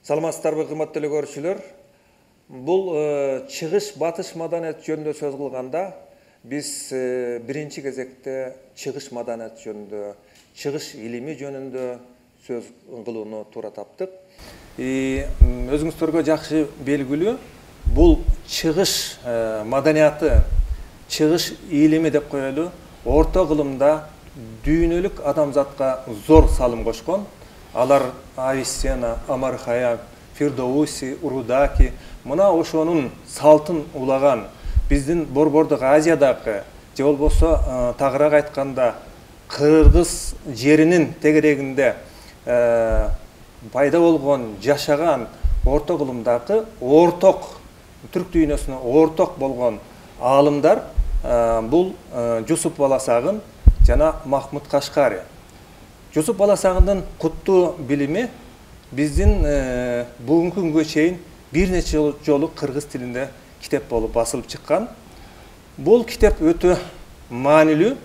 Саламатсыздарбы, кымбаттуу көрүүчүлөр? Бул чыгыш батыш маданият жөнүндө сөз кылганда биз биринчи кезекте чыгыш маданият жөнүндө, чыгыш илими жөнүндө сөз кылууну туура таптык. Өзүңүздөргө жакшы белгилүү, бул чыгыш маданияты, чыгыш илими деп коелу, орто кылымда дүйнөлүк адамзатка зор салым кошкон. Алар Авиценна, Амар Хайям, Фирдоуси, Урудаки, мына ошонун салтын улаган, биздин Борбордук Азиядагы, же болбосо тагыраак айтканда Кыргыз жеринин тегерегинде пайда болгон, жашаган орто кылымдагы орток, түрк дүйнөсүнө орток болгон аалымдар бул Жусуп Баласагын жана Махмуд Кашкари. Жусуп Баласагындын куттуу билими биздин бүгүнкү күнгө чейин бир нече жолу кыргыз тилинде китеп болуп басылып чыккан. Бул китеп өтө маанилүү,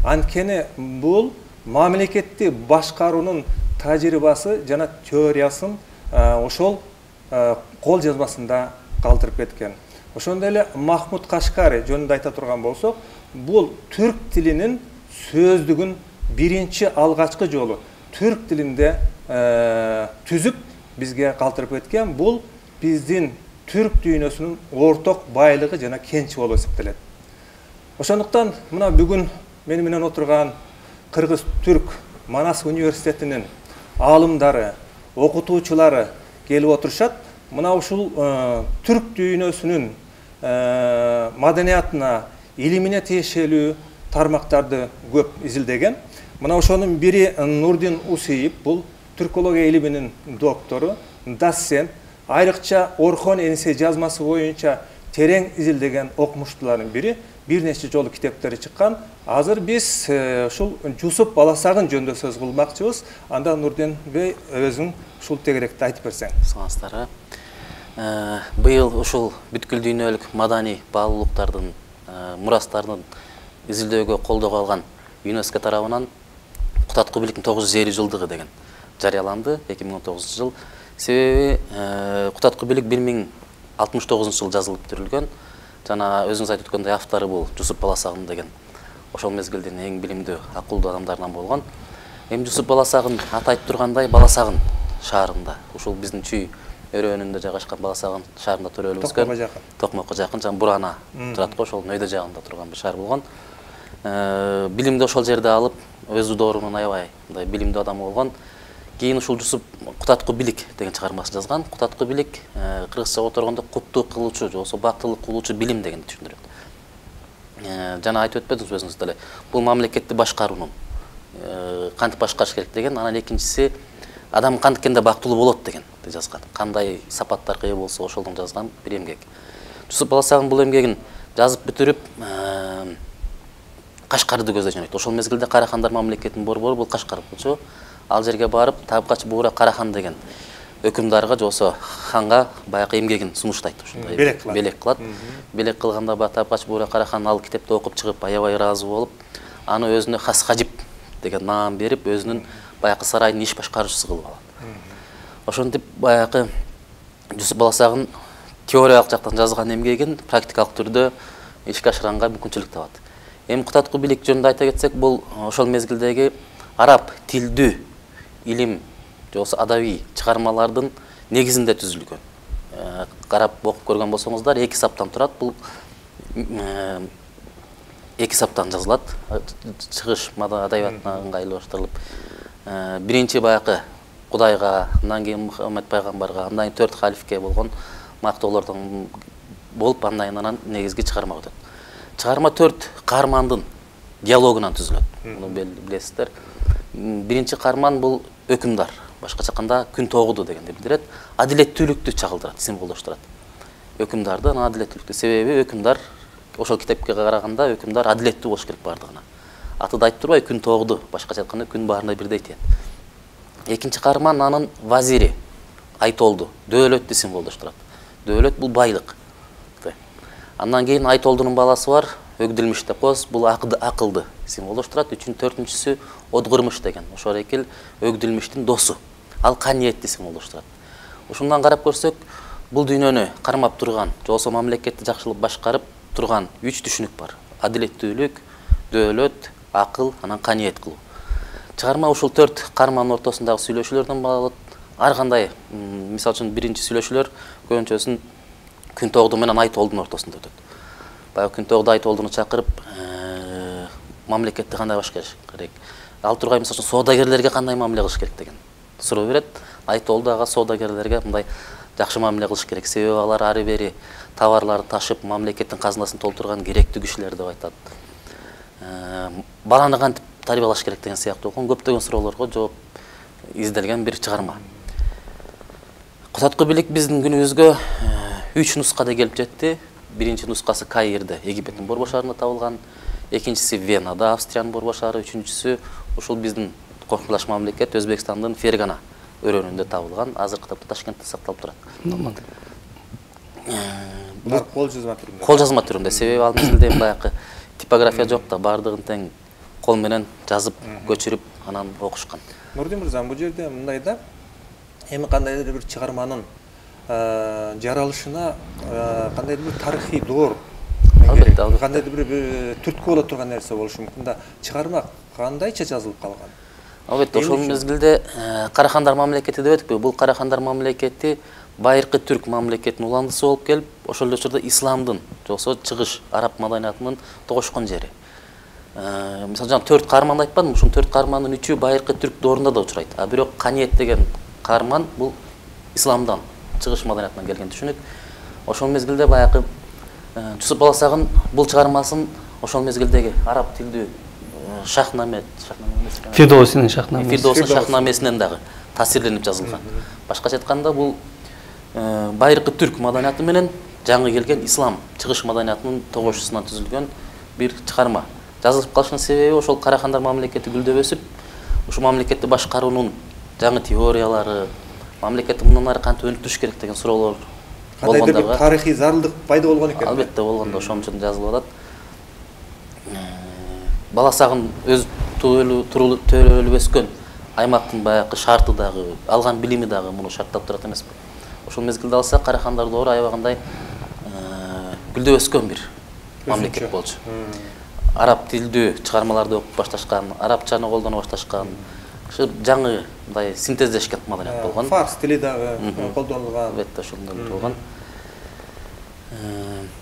анткени бул мамлекетти башкаруунун тажрыйбасы жана теориясын ошол кол жазмасында калтырып кеткен. Ошондой эле Махмуд Кашкари жөнүндө айта турган болсок, бул түрк тилинин сөздүгүн биринчи алгачкы жолу түрк тилинде түзүп бизге калтырып кеткен. Бул биздин түрк дүйнөсүнүн орток байлыгы жана кенчи болуп эсептелет. Ошондуктан мына бүгүн мени менен отурган Кыргыз Түрк Манас университетинин аалымдары, окутуучулары келип отурушат. Мына ушул түрк дүйнөсүнүн маданиятына, илимине тиешелүү тармактарды көп изилдеген. Мына ошонун бири Нурдин Усейип, бул түркология илиминин доктору, доцент, айрыкча Орхон Энисей жазмасы боюнча терең изилдеген окумуштуулардын бири, бир нече жолу китептери чыккан. Азыр биз ушул Жусуп Баласагын жөнүндө сөз кылмакчыбыз. Анда Нурдин бей өзүң ушул тегеректи айтып берсең. Саламатсыздарбы. Быйыл ушул бүткүл дүйнөлүк маданий баалуулуктардын мурастарын изилдөөгө колдоого алган ЮНЕСКО тарабынан Кутаткуу бийликтин 950 жылдыгы деген жарыяланды 2019 жыл. Себеби Кутаткуу бийлик 1069 жыл жазылып түзүлгөн. Жана өзүңүз айтып өткөндөй автору бул Жусуп Баласагын деген ошол мезгилдин эң билимдүү, акылдуу адамдарынан болгон. Эми Жусуп Баласагын аты айтып тургандай Баласагын шаарында, ушул биздин Чүй өрөөнүндө жайгашкан Баласагын шаарында төрөлүп өскөн. Токмокко жакын, жана Бурана турат го, ошол өйдө жагында турган бир шаар болгон. Билимди ошол жерде алып, өзү доорунан аябай мындай билимдүү адам болгон. Кийин ушул Жусуп Кутаткуу бийлик деген чыгармасын жазган. Кутаткуу бийлик кыргызча отургондо куттуу кылуучу же болбосо бактылык кылуучу билим дегенди түшүндүрөт. Жана айтып өтпөдүңүз өзүңүз деле. Бул мамлекетти башкаруунун кантип башкарыш керек деген, анан экинчиси адам кантикенде бактылуу болот деген жазган. Кандай сапаттарга ээ болсо ошолдон жазган бир эмгек. Жусуп Баласагын бул эмгегин жазып бүтүрүп Кашкарды көздөй жөнөйт. Ошол мезгилде Карахандар мамлекетинин борбору бул Кашкар болчу. Ал жерге барып Табкач Буура Карахан деген өкүмдарга же болбосо ханга баягы эмгегин сунуштайт, ушундай белек кылат. Белек кылганда Табкач Буура Карахан ал китепти окуп чыгып аябай ыраазы болуп, аны өзүнө Хас Хажип деген наам берип, өзүнүн баягы сарайдын иш башкаруучусу кылып алат. Ошентип баягы Жусуп Баласагын теориялык жактан жазган эмгегин практикалык түрдө ишке ашыранга мүмкүнчүлүк табат. Эми Кутаткуу бийлик жөнүндө айта кетсек, бул ошол мезгилдеги араб тилдүү илим же болбосо адабий чыгармалардын негизинде түзүлгөн. Карап окуп көргөн болсоңуздар, 2 саптан турат. Бул 2 саптан жазылат. Чыгыш адабиятына ыңгайлаштырылып, биринчи баягы Кудайга, андан кийин Мухаммед пайгамбарга, андан кийин 4 халифке болгон мактоолордон болуп, андан негизги чыгарма өтөт. Чыгарма 4 каармандын диалогунан түзүлөт. Муну билесиздер. Биринчи каарман бул өкүмдар, башкача айтканда күн тогуду дегенди билдирет. Адилеттүүлүктү чагылдырат, символдоштурат. Өкүмдарды адилеттүүлүктү, себеби өкүмдар ошол китепке караганда өкүмдар адилеттүү болуш керек бардыгына. Аты да айтып турбай, күн тогуду, башкача айтканда күн баарында бирдей тиет. Экинчи каарман анын вазири, Айтолду, дөөлөттү символдоштурат. Дөөлөт бул байлык. Андан кийин Айтолдунун баласы бар, Өгдүлмүш деп коебуз, бул акылды символдоштурат. 4-4-сү Одгурмуш деген. Ошол экил Өгдүлмүштүн досу. Ал каниетти символдоштурат. Ушундан карап көрсөк, бул дүйнөнү кармап турган, же болбосо мамлекетти жакшылап башкарып турган 3 түшүнүк бар. Адилеттүүлүк, дөөлөт, акыл, анан каниет кылуу. Чыгарма ушул 4 карманын ортосундагы сүйлөшүүлөрдөн болот. Ар кандай, мисалы үчүн биринчи сүйлөшүүлөр көбүнчөсүн Күнтоогду менен Айтолдун ортосунда өтөт. Баягы Күнтоогду Айтолдуну чакырып, мамлекетти кандай башкарыш керек, ал тургай мисалы үчүн соодагерлерге кандай мамиле кылыш керек деген суроо берет. Айтолду ага соодагерлерге мындай жакшы мамиле кылыш керек, себеби алар ары бери товарларды ташып, мамлекеттин казынасын толтурган керектүү кишилер деп айтат. Баланы кантип тарбиялаш керек деген сыяктуу көптөгөн суроолорго жооп изделген бир чыгарма. Кутаткы бийлик биздин күнүбүзгө 3 нускада келип жетти. Биринчи нускасы Каирде, Египеттин борбор шаарында табылган, экинчиси Венада, Австриянын борбор шаары, үчүнчүсү ушул биздин коркулаш мамлекет Өзбекстандын Фергана өрөөнүндө табылган. Азыркы тапта Ташкентте сакталып турат. Булар кол жазма түрүндө. Кол жазма түрүндө, себеби ал мезгилде баягы типография жок да, бардыгын тең кол менен жазып, көчүрүп, анан окушкан. Нурдин мырза, бул жерде мындай да, эми кандайдыр бир чыгарманын жаралышына кандайдыр бир тарыхый доор керек, кандайдыр бир түрткү боло турган нерсе болушу мүмкүн да. Чыгарма кандайча жазылып калган? Албетте, ошол мезгилде Карахандар мамлекети деп өттүкпү? Бул Карахандар мамлекети байыркы түрк мамлекетинин уландысы болуп келип, ошол учурда исламдын, же болбосо чыгыш араб маданиятынын тогошкон жери. Мисалы жана 4 карманды айтпадымбы? Ушул 4 кармандын 3-ü байыркы түрк доорунда да учурайт. А бирок каниет деген карман бул исламдан, чыгыш маданиятынан келген түшүнүк. Ошол мезгилде баягы Жусуп Баласагын бул чыгармасын ошол мезгилдеги араб тилдүү Шахнаме Фирдоусинин Шахнамесинен дагы таасирленип жазылган. Башкача айтканда бул байыркы түрк маданияты менен жаңы келген ислам чыгыш маданиятынын тогошуусунан түзүлгөн бир чыгарма. Жазылып калышынын себеби ошол Карахандар мамлекети гүлдөп өсүп, ушул мамлекетти башкаруунун жаңы теориялары, мамлекетти мындан ары кантип өнүктүрүш керек деген суроолор болгондо кандайдыр бир тарыхый зарылдык пайда болгон экен. Албетте болгондо ошон үчүн жазылып атат. Баласагын өз төрөлүп өскөн аймактын баягы шарты дагы, алган билими дагы муну шарттап турат эмеспи? Ошол мезгилде алсак, Карахандар доору аябагандай гүлдөп өскөн бир мамлекет болчу. Араб тилдүү чыгармаларды окуп башташкан, арабчаны колдоно башташкан, жаңы мындай синтездешкен маданият болгон. Фарс тили дагы колдонулган. Албетте ошондой болгон.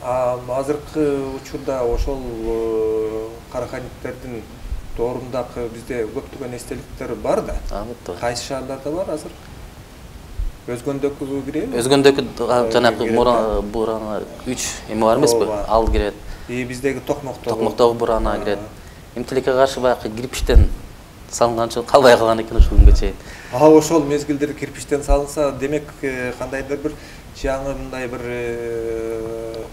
Азыркы учурда ошол Караханиттердин доорундагы бизде көптөгөн эстеликтер бар да. Албетте. Кайсы шаарларда бар азыр? Өзгөндөгү киреби? Өзгөндөгү жанагы Бурана 3 эме бар эмеспи? Ал кирет. Биздеги Токмоктогу Бурана кирет. Эмтилекке каршы баягы кирпичтен салынган үчүн калбай калган экен ушул күнгө чейин. Ошол мезгилдер кирпичтен салынса, демек кандайдыр бир жаңы мындай бир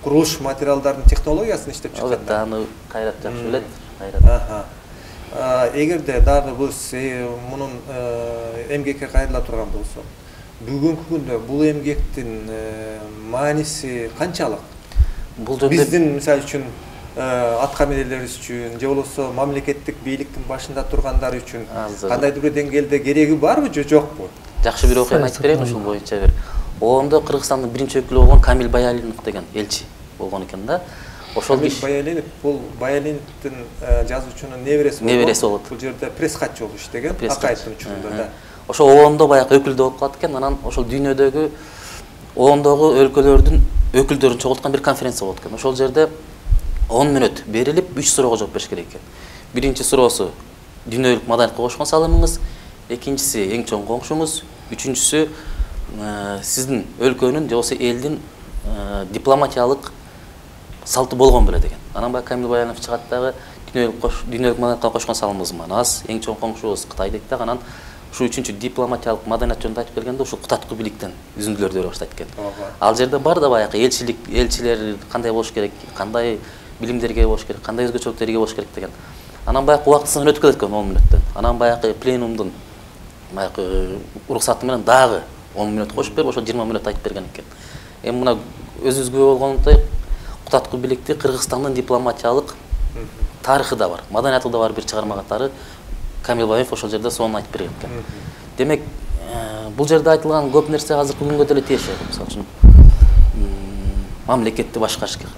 курулуш материалдардын технологиясын иштеп чыккан. Албетте, аны Кайрат жакшы билет. Кайрат. Эгерде дагы биз мунун эмгекке кайрыла турган болсок, бүгүнкү күндө бул эмгектин мааниси канчалык? Бул жөнүндө биздин мисалы үчүн атка минерлерибиз үчүн, же болбосо мамлекеттик бийликтин башында тургандар үчүн кандайдыр бир деңгээлде кереги барбы же жокпу? Жакшы бир окуяны айтып берейин ушул боюнча бир. Оомдо Кыргызстандын биринчи өкүлү болгон Камил Баялинов деген элчи болгон экен да. Ошол Камил Баялинов бул Баялиновдун жазуучунун небереси болот. Бул жерде пресс-катчы болуп иштеген, Акаевдин учурунда да. Ошол оомдо баягы өкүлдө болуп калат экен, анан ошол дүйнөдөгү оомдогу өлкөлөрдүн өкүлдөрүн чогулткан бир конференция болот экен. Ошол жерде 10 мүнөт берилип 3 суроого жооп бериш керек экен. Биринчи суроосу дүйнөлүк маданиятка кошкон салымыңыз, экинчиси эң чоң коңшуңуз, үчүнчүсү сиздин өлкөнүн же болбосо элдин дипломатиялык салты болгон беле деген. Анан баягы Камил Баянов чыгат дагы дүйнөлүк маданиятка кошкон салымыбыз манас, эң чоң коңшубуз Кытай дейт дагы. Анан ушул үчүнчү дипломатиялык маданият жөнүндө айтып келгенде ушул Кутаткы бийликтен үзүндүлөрдү бере баштайт экен. Ал жерде бар да баягы элчилер кандай болуш керек, кандай билимдерге болуш керек, кандай өзгөчөлүктөргө болуш керек деген. Анан баягы убактысын өтүп кетет экен 10 мүнөттөн. Анан баягы пленумдун баягы уруксаты менен дагы 10 мүнөт кошуп берип, ошо 20 мүнөт айтып берген экен. Эми мына өзүбүзгө болгондой Кутаткы бийликти Кыргызстандын дипломатиялык тарыхы да бар, маданияты да бар бир чыгарма катары Камил Баянов ошол жерде сонун айтып берген экен. Демек, Бул жерде айтылган көп нерсе азыркы күнгө деле тиешелүү. Мисалы үчүн мамлекетти башкарыш керек.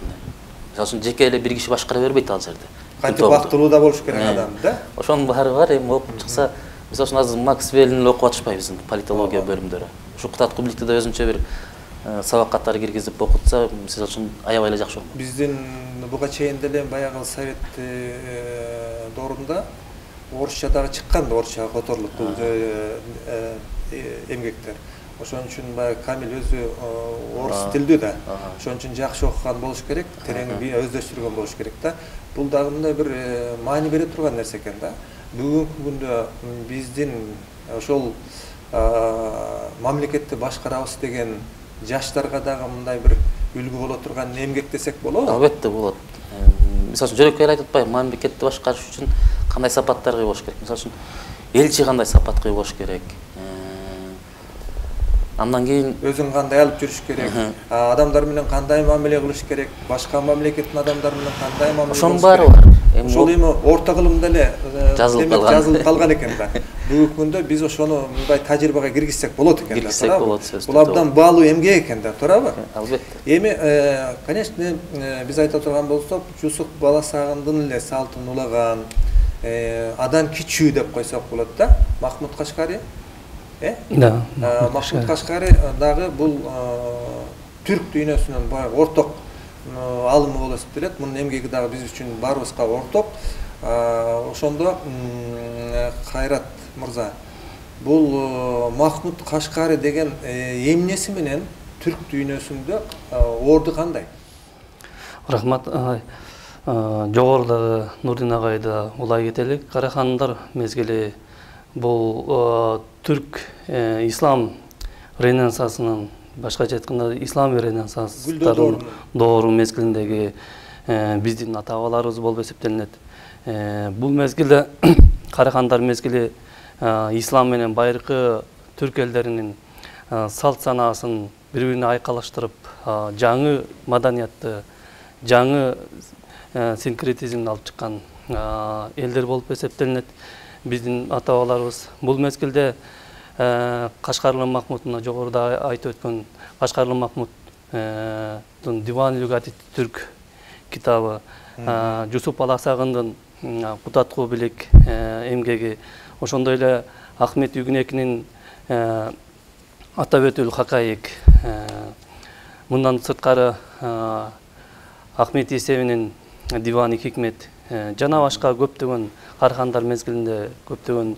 Мисалы үчүн жеке эле бир киши башкара бербейт ал жерде. Кантип бактылуу да болуш керек адам, да? Ошонун баары бар. Эми окуп чыкса, мисалы үчүн азыр Макс Веллин окуп атышпайбы биздин политология бөлүмдөрү. Ушу Кутат Кубиликти да өзүнчө бир сабак катары киргизип окутса, мисалы үчүн аябай эле жакшы болот. Биздин буга чейин деле баягы совет доорунда орусча дагы чыккан, орусча которулуп бул эмгектер. Ошон үчүн баягы Камил өзү орус тилдүү да. Ошон үчүн жакшы окуган болуш керек, терең өздөштүргөн болуш керек да. Бул дагы мындай бир маани бере турган нерсе экен да. Бүгүнкү күндө биздин ошол мамлекетти башкарабыз деген жаштарга дагы мындай бир үлгү боло турган эмгек десек болобу? Албетте болот. Мисалы үчүн жөнөкөй айтып атпайбы, мамлекетти башкарыш үчүн кандай сапаттарга ие болуш керек? Мисалы үчүн элчи кандай сапатка ие болуш керек? Андан кийин өзүн кандай алып жүрүш керек? Адамдар менен кандай мамиле кылыш керек? Башка мамлекеттин адамдары менен кандай мамиле кылыш керек? ошонун баары бар. Ошол эми орто кылымда эле жазылып калган экен да. Бүгүнкү күндө биз ошону мындай тажрыйбага киргизсек болот экен да. Киргизсек болот сөзсүз. Бул абдан баалуу эмгек экен да, туурабы? Албетте. Эми, конечно, биз айта турган болсок, Жусуп Баласагындын эле салтын улаган, адан кичүү деп койсок болот да, Махмуд Кашкари. Да. Махмуд Кашкари дагы бул түрк дүйнөсүнүн баягы орток алымы болуп эсептелет. Мунун эмгеги дагы биз үчүн баарыбызга орток. Ошондо Кайрат мырза, бул Махмуд Кашкари деген эмнеси менен түрк дүйнөсүндө орду кандай? Рахмат. Жогорудагы Нурдин агайды улай кетелик. Карахандар мезгили бул түрк ислам ренессансынын, башкача айтканда ислам ренессанстарынын доору мезгилиндеги биздин ата бабаларыбыз болуп эсептелинет. Бул мезгилде Карахандар мезгили ислам менен байыркы түрк элдеринин салт санаасын бири-бирине айкалаштырып, жаңы маданиятты, жаңы синкретизмди алып чыккан элдер болуп эсептелинет. Биздин ата бабаларыбыз бул мезгилде Кашкарлы Махмуд, мына жогоруда айтып өткөн Кашкарлы Махмуддун Диван Люгати түрк китабы, Жусуп Баласагындын Кутат Кубилик эмгеги, ошондой эле Ахмет Үгүнекинин Атабетүл Хакаик, мындан сырткары Ахмет Есевинин Дивани Хикмет жана башка көптөгөн Карахандар мезгилинде көптөгөн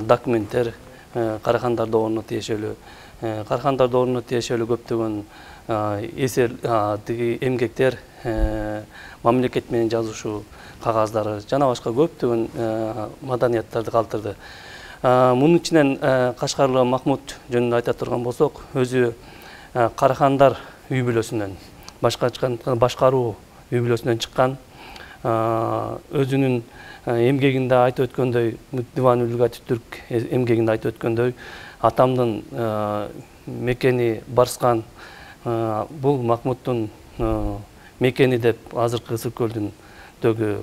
документтер, Карахандар дооруна тиешелүү, көптөгөн эсер эмгектер, мамлекет менен жазышуу кагаздары жана башка көптөгөн маданияттарды калтырды. Мунун ичинен Кашкарлы Махмуд жөнүндө айта турган болсок, өзү Карахандар үй бүлөсүнөн, башкаруу үй бүлөсүнөн чыккан, өзүнүн эмгегинде айтып өткөндөй, Диван Люгати түрк эмгегинде айтып өткөндөй, атамдын мекени Барскан, бул Махмуддун мекени деп азыркы Ысык-Көлдүндөгү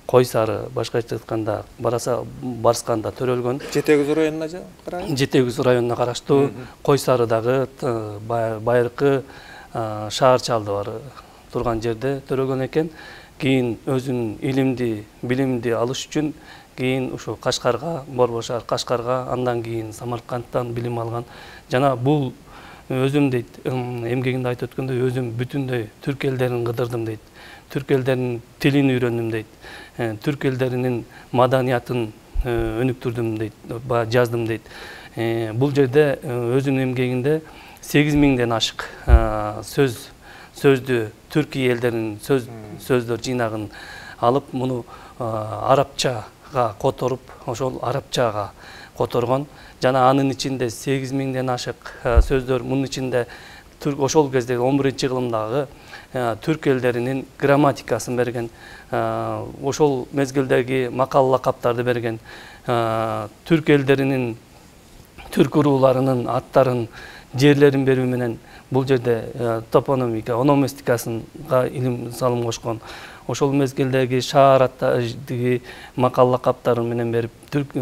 Койсары, башкача айтканда Барсканда төрөлгөн. Жетегүз районуна караган? Жетегүз районуна караштуу Койсарыдагы байыркы шаарчалды бар турган жерде төрөлгөн экен. Кийин өзүнүн илимди, билимди алыш үчүн кийин ушу Кашкарга, Борбор шаар Кашкарга, андан кийин Самаркандтан билим алган. Жана бул өзүм дейт, эмгегинде айтып өткөндөй, өзүм бүтүндөй түрк элдерин кыдырдым дейт. Түрк элдеринин тилин үйрөндүм дейт. Түрк элдеринин маданиятын өнүктүрдүм дейт, жаздым дейт. Бул жерде өзүнүн эмгегинде 8000ден ашык сөздү Түркия элдеринин сөздөр жыйнагын алып, муну арабчага которуп, ошол арабчага которгон. Жана анын ичинде 8000ден ашык сөздөр, мунун ичинде ошол кездеги 11-кылымдагы түрк элдеринин грамматикасын берген, ошол мезгилдеги макал лакаптарды берген, түрк элдеринин, түрк урууларынын аттарын, жерлерин берүү менен бул жерде топономика, ономастикасынга илим салым кошкон. Ошол мезгилдеги шаар аттардыгы макал лакаптарын менен берип, түрк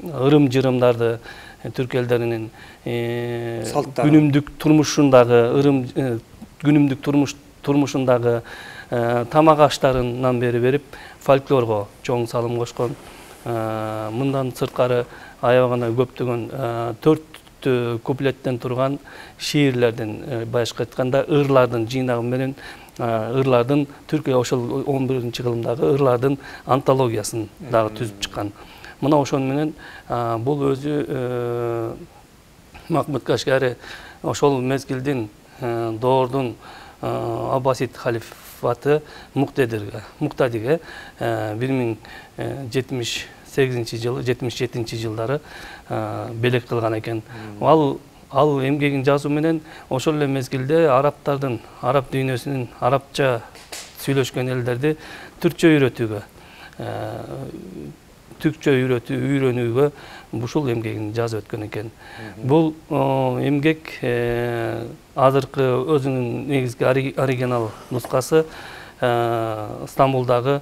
ырым-жырымдарды, түрк элдеринин салттары, күнүмдүк турмушундагы күнүмдүк турмушундагы тамак аштарынан бери берип фольклорго чоң салым кошкон. Мындан сырткары аябагана көптөгөн 4 куплеттен турган шиирлердин, башка айтканда ырлардын жыйнагы менен ырлардын Түркия ошол 11-кылымдагы ырлардын антологиясын дагы түзүп чыккан. Мына ошон менен бул өзү Махмуд Кашгари ошол мезгилдин доордун Аббасид халифаты Муктадиге 1077 жылдары белек кылган экен. Ал эмгегин жазуу менен ошол эле мезгилде арабтардын, араб дүйнөсүнүн арабча сүйлөшкөн элдерди түркчө үйрөнүүгө ушул эмгегин жазып өткөн экен. Бул эмгек азыркы өзүнүн негизги оригинал нускасы Стамбулдагы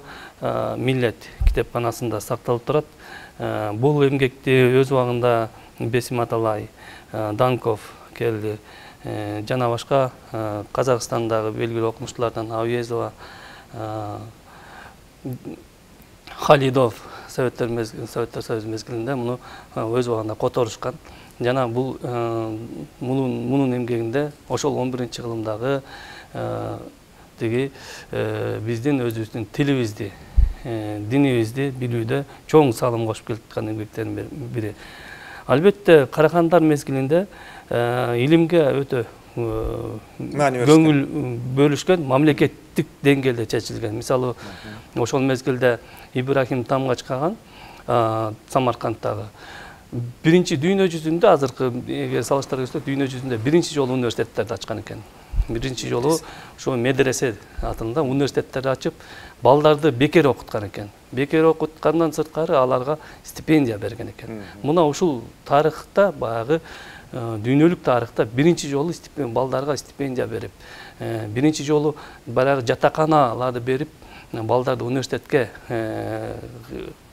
Миллет китепканасында сакталып турат. Бул эмгекти өз убагында Бесим Аталай, Данков келди, жана башка Казакстандагы белгилүү окумуштуулардан Ауезова, Халидов Советтер Союзу мезгилинде муну өз убагында которушкан. Жана бул мунун эмгегинде ошол 11-кылымдагы тиги биздин өзүбүздүн тилибизди, динибизди билүүдө чоң салым кошуп келаткан эмгектердин бири. Албетте карахандар мезгилинде илимге өтө көңүл бөлүшкөн, мамлекеттик деңгээлде чечилген. Мисалы, ошол мезгилде Ибрахим Тамгач каган Самаркандтагы биринчи дүйнө жүзүндө, азыркы эгер салыштыра көрсөк, дүйнө жүзүндө биринчи жолу университеттерди ачкан экен. Биринчи жолу ошо медресе атында университеттерди ачып, балдарды бекер окуткан экен. Бекер окуткандан сырткары аларга стипендия берген экен. Мына ушул тарыхта, баягы дүйнөлүк тарыхта биринчи жолу балдарга стипендия берип, биринчи жолу баягы жатаканаларды берип, балдарды университетке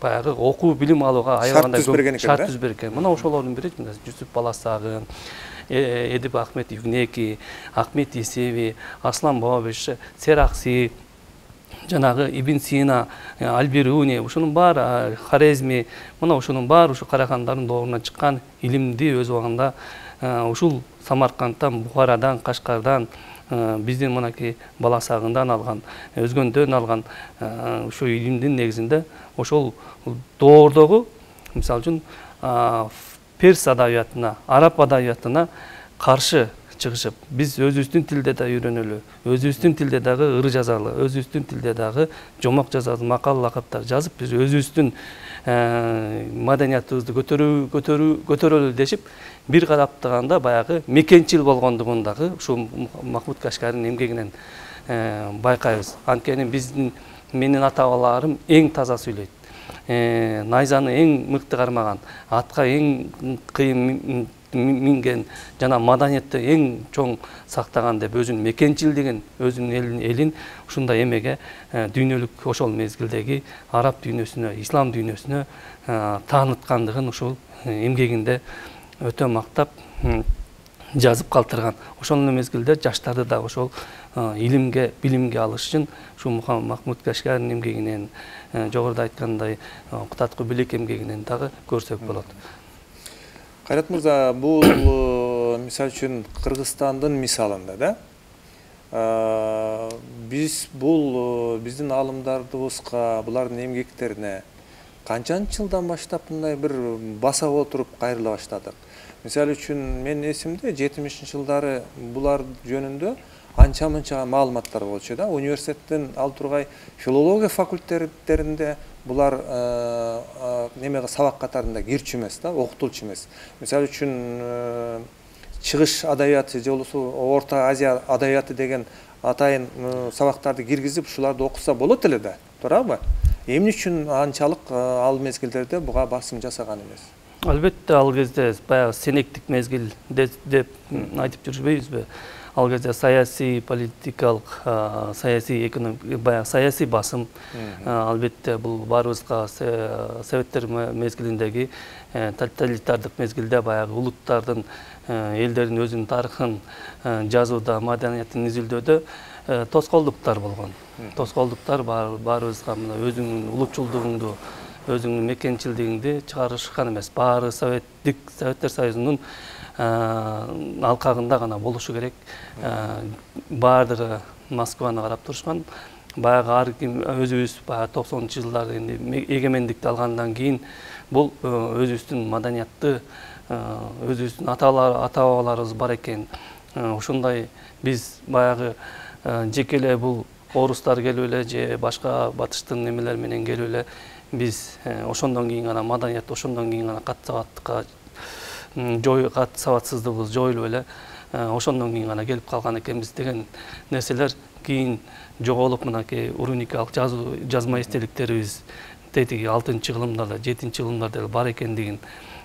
баягы окуу билим алууга аябагандай шарт түзүп берген. Мына ошолордун бири Жүсүп Баласагы, Эдип Ахмет Югнеки, Ахмет Исеви, Аслан Бабабеш, Серакси, жанагы Ибн Сина, Албируни, ушунун баары, Хорезми, мына ушунун баары ушу карахандардын доорунан чыккан илимди өз убагында ушул Самаркандтан, Бухарадан, Кашкардан, биздин мынакей Баласагындан алган, өзгөндөн алган ушу илимдин негизинде ошол доордогу, мисалы үчүн, перс адабиятына, араб адабиятына каршы чыгышып, биз өзүбүздүн тилде да үйрөнөлү, өзүбүздүн тилде дагы ыр жазалы, өзүбүздүн тилде дагы жомок жазалы, макал лакаптар жазып, биз өзүбүздүн маданиятыбызды көтөрөлү дешип, бир караптаганда баягы мекенчил болгондугун дагы ушул Махмуд Кашгаринин эмгегинен байкайбыз. Анткени менин ата-бабаларым эң таза сүйлөйт. Найзаны эң мыкты кармаган, атка эң кыйын минген, жана маданиятты эң чоң сактаган деп өзүнүн мекенчилдигин, өзүнүн элин ушундай эмеге дүйнөлүк ошол мезгилдеги араб дүйнөсүнө, ислам дүйнөсүнө тааныткандыгын ушул эмгегинде өтө мактап жазып калтырган. Ошол мезгилде жаштарды да ошол илимге, билимге алыш үчүн ушул Махмуд Кашгаринин эмгегинен, жогоруда айткандай Кутаткы билек эмгегинен дагы көрсөк болот. Кайрат мырза, бул мисалы үчүн Кыргызстандын мисалында да биз бул биздин аалымдарыбызга, булардын эмгектерине канчанчы жылдан баштап мындай бир баса отуруп кайрыла баштадык? Мисалы үчүн менин эсимде 70-жылдары булар жөнүндө анча-мынча маалыматтар болчу да. Университеттин ал тургай филология факультеттеринде булар немеге сабак катарында кирчү эмес да, окутулчу эмес. Мисалы үчүн чыгыш адабияты же болбосо Орто Азия адабияты деген атайын сабактарды киргизип, ушуларды окуса болот эле да, туурабы? Эмне үчүн анчалык ал мезгилдерде буга басым жасаган эмес? Албетте, ал кезде баягы сенектик мезгил деп айтып жүрбөйбүзбү? ал кезде саясий политикалык саясий баягы саясий басым албетте бул баарыбызга советтер мезгилиндеги тоталитардык мезгилде баягы улуттардын элдердин өзүнүн тарыхын жазууда маданиятын изилдөөдө тоскоолдуктар болгон. Тоскоолдуктар баарыбызга мына өзүңдүн улутчулдугуңду өзүңдүн мекенчилдигиңди чыгарышкан эмес. Баары Советтер Союзунун алкагында гана болушу керек. Баардыгы Москваны карап турушкан. Баягы ар ким өзүбүз баягы 90-жылдарда энди эгемендикти алгандан кийин бул өзүбүздүн маданиятты, өзүбүздүн ата-бабаларыбыз бар экен. Ошондой биз баягы жеке эле бул орустар келип эле же башка батыштын немелер менен келип эле биз ошондон кийин гана маданият, ошондон кийин гана кат сабатсыздыгыбыз жоюлуп эле ошондон кийин гана келип калган экенбиз деген нерселер кийин жоголуп мынакей уруникалык жазма эстеликтерибиз тетиги 6-кылымдарда 7-кылымдарда эле бар экендигин,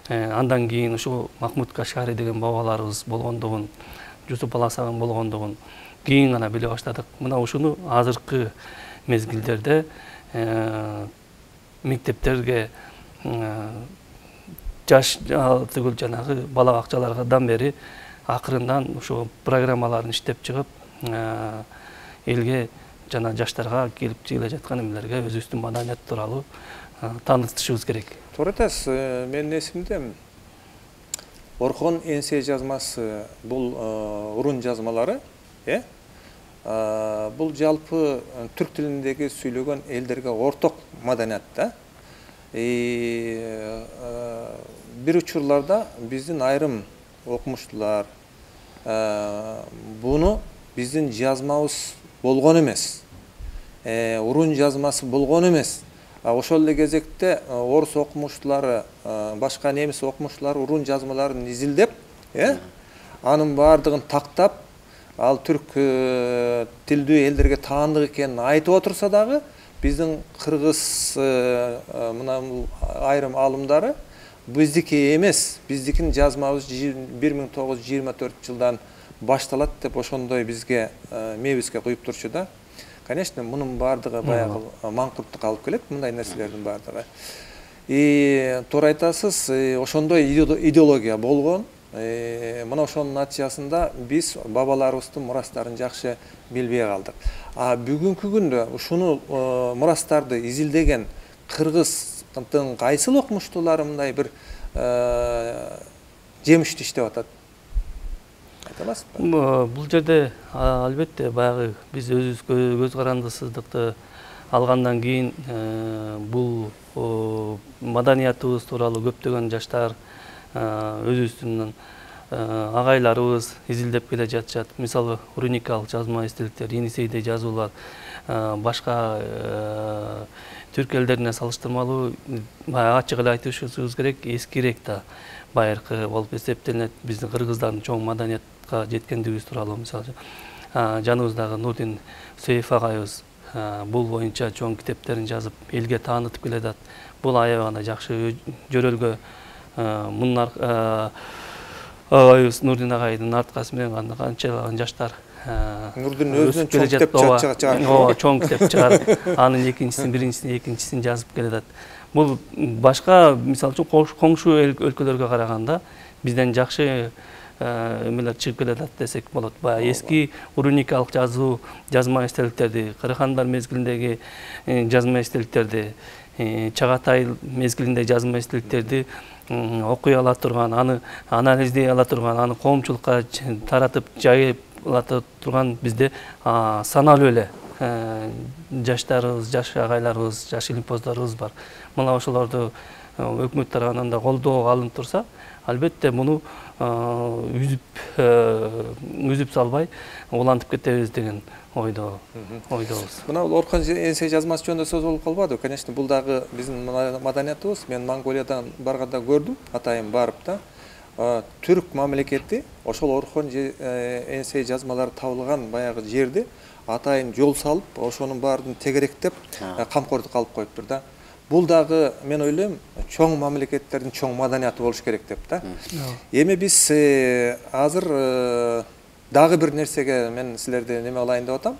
андан кийин ушу Махмуд Кашгари деген бабаларыбыз болгондугун, Жусуп Баласаган болгондугун кийин гана биле баштадык. Мына ушуну азыркы мезгилдерде мектептерге жаш тигил жанагы бала бакчалардан бери акырындан ушул программаларын иштеп чыгып элге жана жаштарга келип келе жаткан эмелерге өзүбүздүн маданият тууралуу таанытышыбыз керек. Туура айтасыз. Менин эсимде Орхон Энсей жазмасы бул урун жазмалары, бул жалпы түрк тилиндеги сүйлөгөн элдерге орток маданият да. Бир учурларда биздин айрым окумуштуулар буну биздин жазмабыз болгон эмес, урун жазмасы болгон эмес. Ошол эле кезекте орус окумуштуулары, башка немис окумуштуулары урун жазмаларын изилдеп, анын баардыгын тактап, ал түрк тилдүү элдерге таандык экенин айтып отурса дагы, биздин кыргыз мына айрым алымдары биздики эмес, биздикин жазмабыз 1924 жылдан башталат деп ошондой бизге мебизге куюп турчу да. Конечно, мунун баардыгы баягы маңкурттукка алып келет, мындай нерселердин баардыгы. Туура айтасыз, ошондой идеология болгон. Мына ошонун натыйжасында биз бабаларыбыздын мурастарын жакшы билбей калдык. Бүгүнкү күндө ушуну мурастарды изилдеген кыргыздын кайсыл окумуштуулары мындай бир жемиштүү иштеп атат? Бул жерде албетте баягы биз өзүбүзгө көз карандысыздыкты алгандан кийин бул маданиятыбыз тууралуу көптөгөн жаштар өзүбүздүн агайларыбыз изилдеп келе жатышат. Мисалы уруникалык жазма эстеликтер, Енисейде жазуулар башка түрк элдерине салыштырмалуу ачык эле айтышыбыз керек, эскирээк да байыркы болуп эсептелет. Биздин кыргыздардын чоң маданиятка жеткендигибиз тууралуу мисалы жаныбыздагы Нурдин Сөйев агайыбыз бул боюнча чоң китептерин жазып элге таанытып келатат. Бул аябай гана жакшы жөрөлгө мунун агайыбыз Нурдин агайдын арткасы менен канчалаган жаштар Нурдин өзүнүн чоң китеп чыгарат. Чоң китеп чыгарып, анын экинчисин, биринчисин, экинчисин жазып келатат. Бул башка мисалы үчүн коңшу өлкөлөргө караганда бизден жакшы эмелер чыгып келатат десек болот. Баягы эски уруникалык жазма эстеликтерди, Кырыхандар мезгилиндеги жазма эстеликтерди, Чагатай мезгилиндеги жазма эстеликтерди окуй ала турган, аны анализдей ала турган, аны коомчулукка таратып жайып ала турган бизде саналуу эле жаштарыбыз, жаш агайларыбыз, жаш илимпоздорубуз бар. Мына ошолорду өкмөт тарабынан да колдоого алынып турса, албетте муну үзүп салбай улантып кетебиз деген ойдобуз. Мына Орхон Энсей жазмасы жөнүндө сөз болуп калбады. Конечно, бул дагы биздин маданиятыбыз. Мен Монголиядан барганда көрдүм, атайын барып да. Түрк мамлекети ошол Орхон Энсей жазмалары табылган баягы жерди атайын жол салып, ошонун баарын тегеректеп, камкордукка алып коюптур да. Бул дагы мен ойлойм, чоң мамлекеттердин чоң маданияты болуш керек деп да. Эми биз азыр дагы бир нерсеге мен силерди неме кылайын деп атам.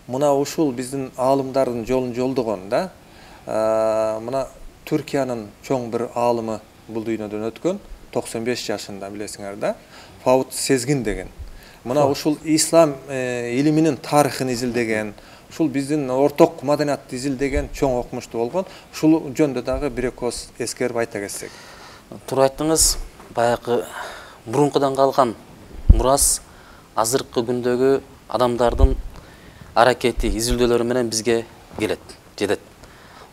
Мына ушул биздин аалымдардын жолун жолдогон да. Мына Түркиянын чоң бир аалымы бул дүйнөдөн өткөн, 95 жашында билесиңер да. Фауд Сезгин деген. Мына ушул ислам илиминин тарыхын изилдеген, ушул биздин орток маданиятты изилдеген чоң окумуштуу болгон. Ушул жөндө дагы бир эки ооз эскерип айта кетсек. Туура айттыңыз. Баягы мурункудан калган мурас азыркы күндөгү адамдардын аракети, изилдөөлөрү менен бизге келет, жетет.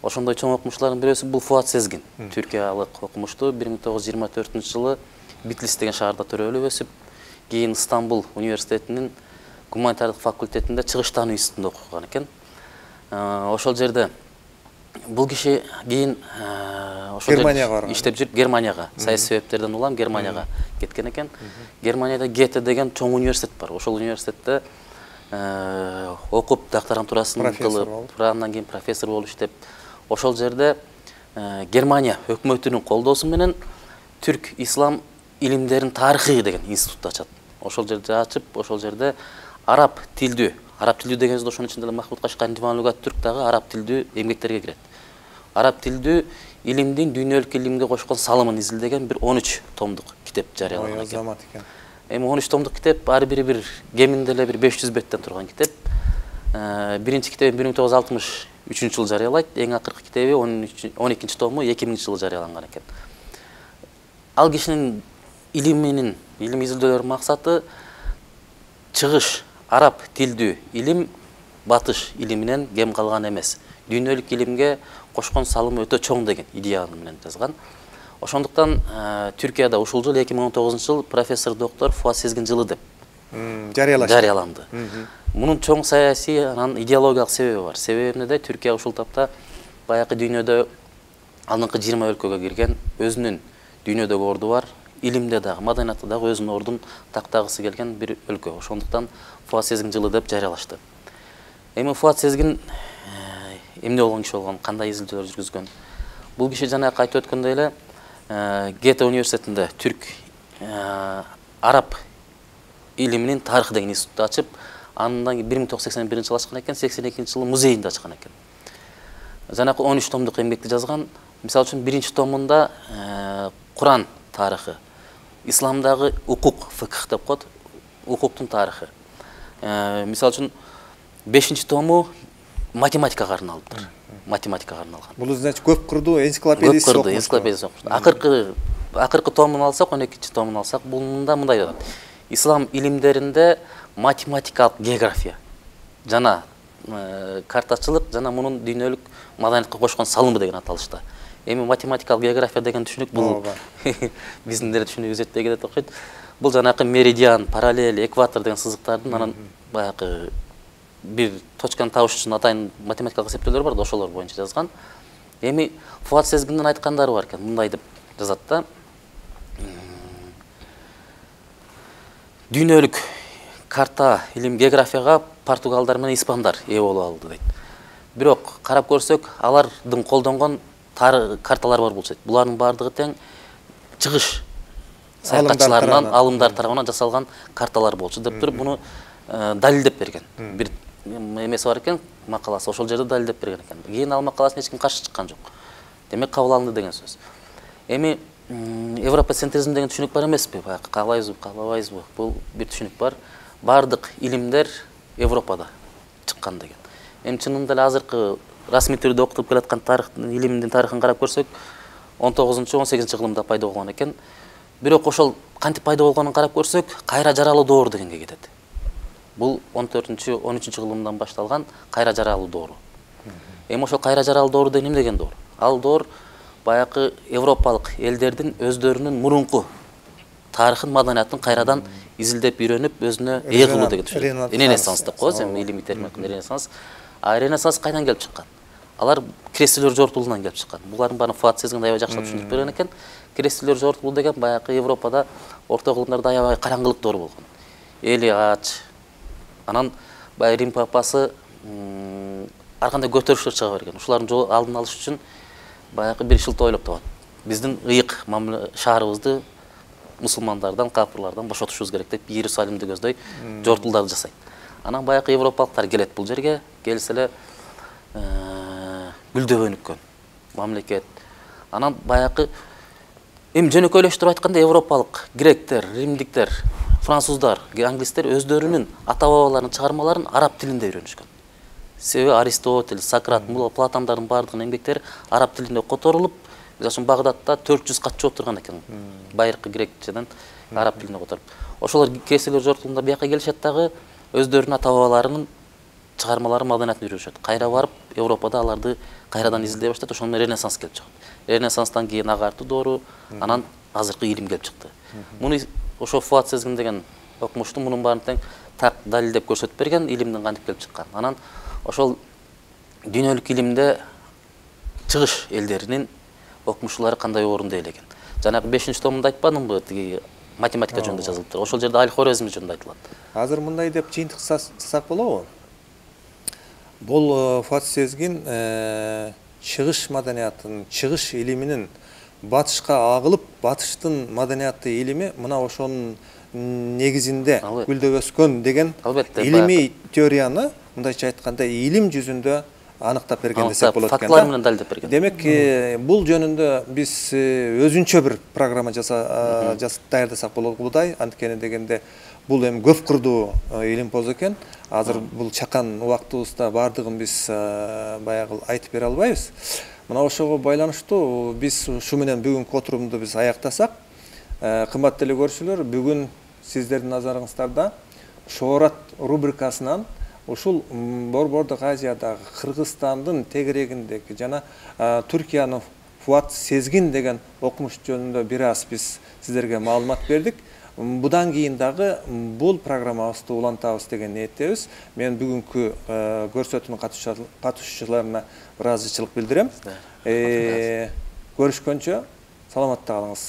Ошондой чоң окумуштуулардын бирөөсү бул Фуат Сезгин. Түркиялык окумуштуу 1924-жылы Битлис деген шаарда төрөлүп өсүп, кийин Стамбул университетинин гуманитардык факультетинде чыгыштануу институтунда окуган экен. Ошол жерде бул киши кийин ошол жерде иштеп жүрүп Германияга, саясий себептерден улам Германияга кеткен екен. Германияда Гете деген чоң университет бар. Ошол университетте окуп, докторантурасын кылып, андан кийин профессор болуп иштеп, ошол жерде Германия өкмөтүнүн колдоосу менен түрк ислам илимдерин тарыхы деген институт ачат. Ошол жерде ачып, ошол жерде араб тилдүү дегенибизде ошонун ичинде Махмуд Кашкарин Диван Лугат түрк дагы араб тилдүү эмгектерге кирет. Араб тилдүү илимдин дүйнөлүк илимге кошкон салымын изилдеген бир 13 томдук китеп жарыялаган экен. Эми 13 томдук китеп, ар бири бир кеминде эле бир 500 беттен турган китеп. Биринчи китебин 1963-жылы жарыялайт, эң акыркы китеби 12-чи тому 2000-жылы жарыяланган экен. Ал кишинин илим изилдөөлөрүнүн максаты чыгыш араб тилдүү илим батыш илиминен кем калган эмес. Дүйнөлүк илимге кошкон салымы өтө чоң деген идея менен жазган. Ошондуктан Түркияда ушул жыл 2019-жыл профессор доктор Фуат Сезгин жылы деп жарыяланды. Мунун чоң саясий, анан идеологиялык себеби бар. Себеби эмнеде? Түркия ушул тапта баягы дүйнөдө алдыңкы 20 өлкөгө кирген, өзүнүн дүйнөдөгү орду бар, илимде дагы, маданиятта дагы өзүнүн ордун тактагысы келген бир өлкө. Ошондуктан Фуат Сезгин жылы деп жарыялашты. Эми Фуат Сезгин эмне болгон киши болгон, кандай изилдөөлөр жүргүзгөн? Бул киши жанагы айтып өткөндөй эле Гете университетинде түрк араб илиминин тарыхы деген институтты ачып, андан 1981-жылы ачкан экен, 82-жылы музейинде ачкан экен. Жанагы 13 томдук эмгекти жазган. Мисалы үчүн биринчи томунда Куран тарыхы, исламдагы укук, фикх деп коет, укуктун тарыхы. Мисалы үчүн 5-чи тому математикага арналдыр. Математикага арналган. Бул значит көп курдуу энциклопедиясы окумуш. Энциклопедиясы окумуш. Акыркы томун алсак, 12-чи томун алсак, бунда мындай атат. Ислам илимдеринде математикалык география жана картачылык жана мунун дүйнөлүк маданиятка кошкон салымы деген аталышта. Эми математикалык география деген түшүнүк бул биздин деле түшүнүгүбүз жетпей кетет окшойт. Бул жанакы меридиан, параллель, экватор деген сызыктардын анан баягы бир точканы табыш үчүн атайын математикалык эсептөөлөр бар да, ошолор боюнча жазган. Эми Фуат Сезгиндин айткандары бар экен, мындай деп жазат да. Дүйнөлүк карта, илим, географияга португалдар менен испандар ээ болуп алды дейт. Бирок карап көрсөк, алардын колдонгон карталар бар болчу. Булардын бардыгы тең чыгыш саякатчыларынан, алымдар тарабынан жасалган карталар болчу деп туруп, буну далилдеп берген. Бир эмеси бар экен, макаласы, ошол жерде далилдеп берген экен. Кийин ал макаласын эч ким каршы чыккан жок. Демек кабыл алынды деген сөз. Эми европоцентризм деген түшүнүк бар эмеспи? Баягы каалайбызбы, каалабайбызбы? Бул бир түшүнүк бар. Бардык илимдер Европада чыккан деген. Эми чынында эле азыркы расмий түрдө окутуп келаткан тарыхтын, илимдин тарыхын карап көрсөк, 19-18 кылымда пайда болгон экен. Бирок ошол кантип пайда болгонун карап көрсөк, кайра жаралуу доор дегенге кетет. Бул 14-13 кылымдан башталган кайра жаралуу доору. Эми ошол кайра жаралуу доору деген эмне деген доор? Ал доор баягы европалык элдердин өздөрүнүн мурунку тарыхын, маданиятын кайрадан изилдеп үйрөнүп, өзүнө ээ кылуу деген түшүнүк. Ренессанс деп коебуз, эми илимий термин Ренессанс. А Ренессанс кайдан келип чыккан? Алар крестилер жортулунан келип чыккан. Булардын баарын Фуат Сезгин аябай жакшылап түшүндүрүп берген экен. Крестилер жортулуу деген баягы Европада орто кылымдарда аябай караңгылык доор болгон. Эли ач. Анан баягы Рим папасы ар кандай көтөрүштөр чыга берген. Ушулардын алдын алыш үчүн баягы бир шылтоо ойлоп табат. Биздин ыйык шаарыбызды мусулмандардан, капырлардан бошотушубуз керек деп Иерусалимди көздөй жортулдарды жасайт. Анан баягы европалыктар келет бул жерге, келсе эле гүлдөп өнүккөн мамлекет. Анан баягы эми жөнөкөйлөштүрүп айтканда европалык гректер, римдиктер, француздар, англистер өздөрүнүн ата-бабаларынын чыгармаларын араб тилинде үйрөнүшкөн. Себеби Аристотель, Сократ, Платондордун баардыгынын эмгектери араб тилинде которулуп, мисалы үчүн Багдадта 400 кат жооп турган экен. Байыркы грекчеден араб тилине которуп. Ошолор кесилер жортулунда бияка келишет дагы өздөрүнүн ата-бабаларынын чыгармалары маданиятын үйрөнүшөт. Кайра барып Европада аларды кайрадан изилдей баштайт, ошондон Ренессанс келип чыгат. Ренессанстан кийин агартуу доору, анан азыркы илим келип чыкты. Муну ошо Фуат Сезгин деген окумушту мунун баарын тең так далилдеп көрсөтүп берген, илимдин кантип келип чыккан. Анан ошол дүйнөлүк илимде чыгыш элдеринин окумуштуулары кандай орунду ээлеген. Жанагы 5-томунда айтпадымбы, тиги математика жөнүндө жазылып тур. Ошол жерде Аль-Хорезм жөнүндө айтылат. Азыр мындай деп жыйынтык жасасак болобу? Бул Фуат Сезгин чыгыш маданиятынын, чыгыш илиминин батышка агылып, батыштын маданиятты илими мына ошонун негизинде гүлдөп өскөн деген илимий теорияны, мындайча айтканда, илим жүзүндө аныктап берген десек болот экен. Фактылар менен далилдеп берген. Демек, бул жөнүндө биз өзүнчө бир программа даярдасак болобудай, анткени дегенде бул эми көп кырдуу илимпоз экен. Азыр бул чакан убактыбызда баардыгын биз баягы айтып бере албайбыз. Мына ошого байланыштуу биз ушу менен бүгүнкү отурумду биз аяктасак, кымбаттуу эле көрүүчүлөр, бүгүн сиздердин назарыңыздарда Шоорат рубрикасынан ушул Борбордук Азиядагы Кыргызстандын тегерегиндеги жана Түркиянын Фуат Сезгин деген окумуш жөнүндө бир аз биз сиздерге маалымат бердик. Будан кийин дагы бул программабызды улантабыз деген ниеттебиз. Мен бүгүнкү көрсөтүүнүн катышуучуларына ыраазычылык билдирем. Көрүшкөнчө саламатта калыңыз.